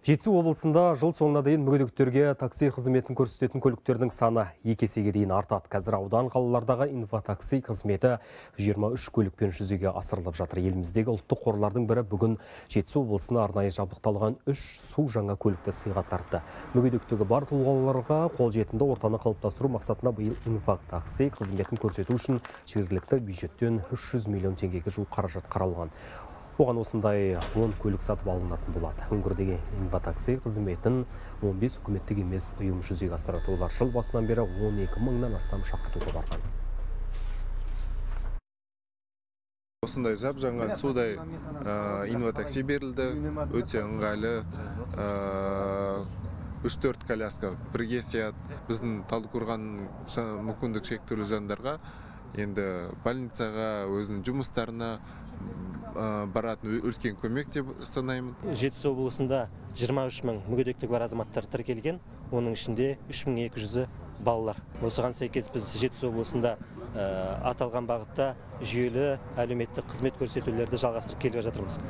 Жетісу облысында жыл соңына дейін мүгедектерге такси қызметін көрсететін көліктердің саны 2 есеге дейін артады. Қазір аудан қалалардағы инфотакси қызметі 23 көлікпен жүзеге асырылып жатыр. Еліміздегі ұлттық қорлардың бірі бүгін Жетісу облысына арнайы жабдықталған 3 су жаңа көлікті сыйға тартты. Мүгедектігі бар тұлғаларға қолжетімді ортаны қалыптастыру мақсатында биыл инфотакси қызметін көрсету үшін жергілікті бюджеттен 300 миллион теңгеге жуық қаражат қаралған. Оған осындай 10 көлік сатып алынатын болады. Өңірдегі инфотакси қызметін 15 үкіметтік емес ұйым жүзеге асырады. Олар жыл басынан бері 12 мыңнан астам шақыртуға барған. Осындай жаңа судай инфотакси берілді, өте ыңғайлы. 3-4 коляска бірге сыяды. Біздің Талдықорған мүмкіндік шектеулі жандарға енді больницаға, өзінің жұмыстарына баратын үлкен көмек деп санаймын. Жетісу облысында 23 мың мүгедектігі бар азаматтар тіркелген, оның ішінде 3200-і балалар. Осыған сәйкес біз Жетісу облысында аталған бағытта жүйелі әлеуметтік қызмет көрсетулерді жалғастырып келе жатырмыз.